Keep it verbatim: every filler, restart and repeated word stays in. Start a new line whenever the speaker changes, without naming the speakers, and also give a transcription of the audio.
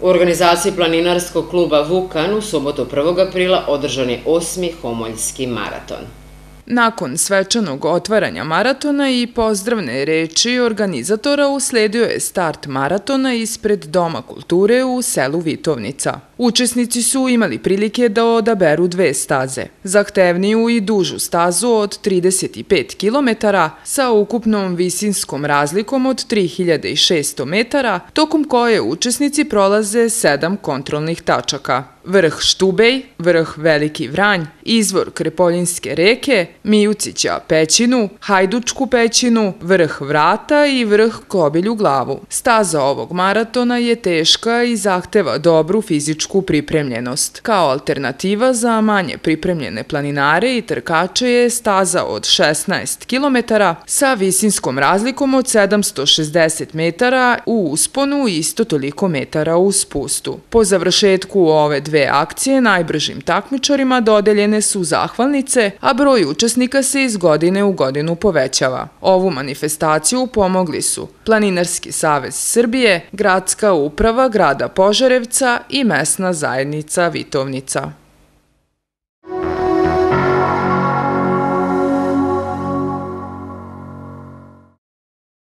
U organizaciji planinarskog kluba Vukan u subotu prvog aprila održan je osmi Homoljski maraton.
Nakon svečanog otvaranja maratona i pozdravne reči organizatora usledio je start maratona ispred Doma kulture u selu Vitovnica. Učesnici su imali prilike da odaberu dve staze, zahtevniju i dužu stazu od trideset pet kilometara sa ukupnom visinskom razlikom od tri hiljade šesto metara, tokom koje učesnici prolaze sedam kontrolnih tačaka. Vrh Štubej, vrh Veliki Vranj, izvor Krepoljinske reke, Mijucića pećinu, Hajdučku pećinu, vrh Vrata i vrh Kobilju glavu. Staza ovog maratona je teška i zahteva dobru fizičku pripremljenost. Kao alternativa za manje pripremljene planinare i trkače je staza od šesnaest kilometara sa visinskom razlikom od sedamsto šezdeset metara u usponu i isto toliko metara u spustu. Po završetku ove dve Dve akcije najbržim takmičarima dodeljene su zahvalnice, a broj učesnika se iz godine u godinu povećava. Ovu manifestaciju pomogli su Planinarski savez Srbije, Gradska uprava grada Požarevca i mesna zajednica Vitovnica.